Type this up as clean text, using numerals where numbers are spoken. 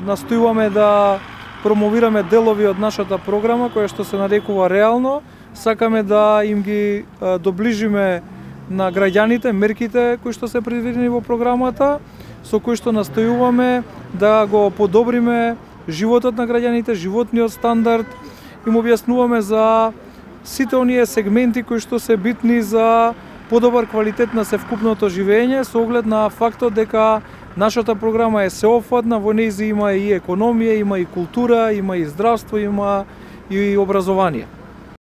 Настојуваме да промовираме делови од нашата програма која што се нарекува Реално. Сакаме да им ги доближиме на граѓаните мерките кои што се предвидени во програмата, со кои што настојуваме да го подобриме животот на граѓаните, животниот стандард, им објаснуваме за сите оние сегменти кои што се битни за подобар квалитет на севкупното живење, со оглед на фактот дека нашата програма е сеопфатна, во нејзи има и економија, има и култура, има и здравство, има и образование.